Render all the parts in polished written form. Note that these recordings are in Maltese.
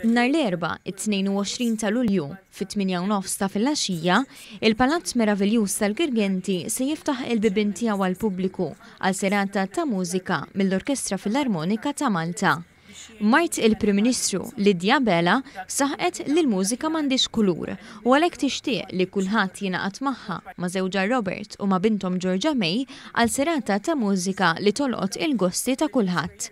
Nhar l-Erbgħa, it-22 ta' Lulju, fit-tmienja u nofs ta' filgħaxija, il-Palazz meraviljuż tal-Girgenti se jiftaħ il-bibien tiegħu għall-pubbliku għal serata ta' mużika mill-Orkestra Filarmonika ta' Malta. Mart il-Prim Ministru, Lydia Abela, saħqet li l-mużika m'għandhiex kulur u għalhekk tixtieq li kulħadd jingħaqad magħha, ma' żewġha Robert u ma' binthom Georgia May għal serata ta' mużika li tolqot il-gosti ta' kulħadd.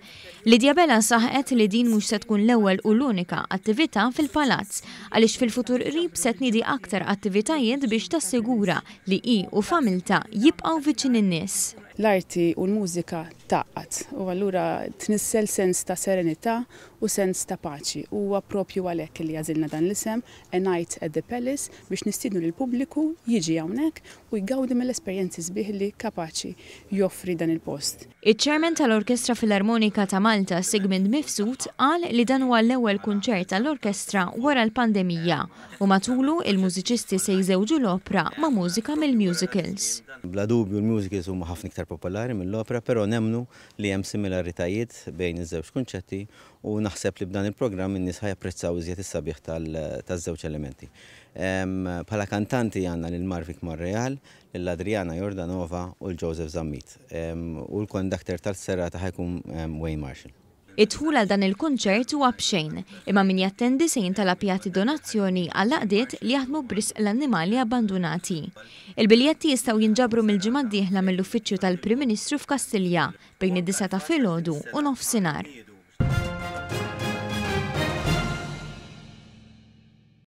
Lydia Abela saħqet li din mhux se tkun l-ewwel u l-unika attività fil-Palazz għaliex fil-futur qrib se tniedi aktar attivitajiet biex tassigura li hi u familtha jibqgħu viċin in-nies. L-arti u l-mużika tgħaqqad u allura tnissel sens ta' serenità u sens ta' paċi. U huwa proprju għalhekk li għażilna dan l-isem, A Night at the Palace, biex nistiednu lill-pubbliku jiġi hawnhekk u jgawdi mill-esperjenzi sbieħ li kapaċi joffri dan il-post. Iċ-Chairman tal-Orkestra Filarmonika ta' Malta, Sigmund Mifsud, qal li dan huwa l-ewwel kunċert tal-orkestra wara l-pandemija u matulu il-mużiċisti se jżewġu l-opra ma' mużika mill-musicals. Bla dubju l-musicals huma ħafna iktar popolari mill-opra, però nemmnu li hemm similaritajiet bejn iż-żewġ kunċetti u naħseb li b'dan il-programm in-nies ħa japprezzaw iżjed is-sabiħ taż-żewġ elementi. Bħala kantanti għandna lil Marvic Monreal, lil Adriana Jordanova u l Joseph Zammit. U l-conductor tal-serata ħa jkun Wayne Marshall. Id-dħul għal dan il-kunċert huwa b'xejn, imma min jattendi se jintalab jagħti donazzjoni għall-għaqdiet li jaħdmu b'risq l-annimali abbandunati. Il-biljetti jistgħu jinġabru mill-ġimgħa d-dieħla mill-Uffiċċju tal-Prim Ministru f'Kastilja bejn id-disgħa ta' filgħodu u nofsinhar.